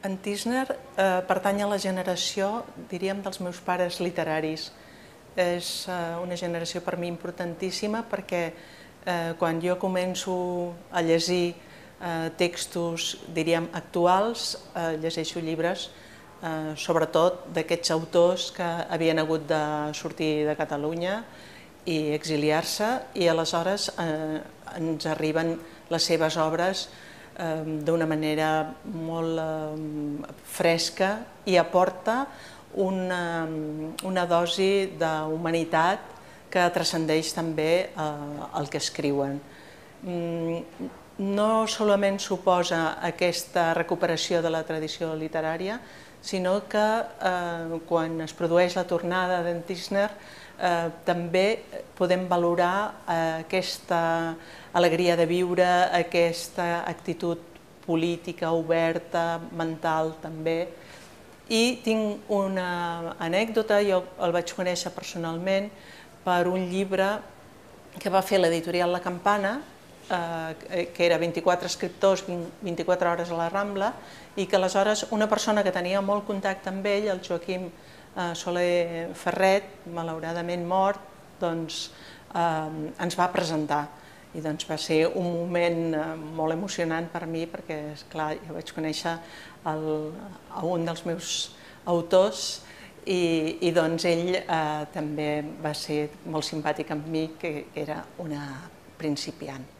En Tísner pertany a la generació, diríem, dels meus pares literaris. És una generació per mi importantíssima perquè quan jo començo a llegir textos, diríem, actuals, llegeixo llibres sobretot d'aquests autors que havien hagut de sortir de Catalunya i exiliar-se, i aleshores ens arriben les seves obres d'una manera molt fresca i aporta una dosi d'humanitat que transcendeix també el que escriuen. No solament suposa aquesta recuperació de la tradició literària, sinó que quan es produeix la tornada d'en Tísner també podem valorar aquesta alegria de viure, aquesta actitud política oberta, mental també. I tinc una anècdota, jo el vaig conèixer personalment per un llibre que va fer l'editorial La Campana, que era 24 escriptors, 24 hores a la Rambla, i que aleshores una persona que tenia molt contacte amb ell, el Joaquim Soler Ferret, malauradament mort, doncs ens va presentar. I doncs va ser un moment molt emocionant per mi perquè, esclar, jo vaig conèixer un dels meus autors i doncs ell també va ser molt simpàtic amb mi, que era una principiant.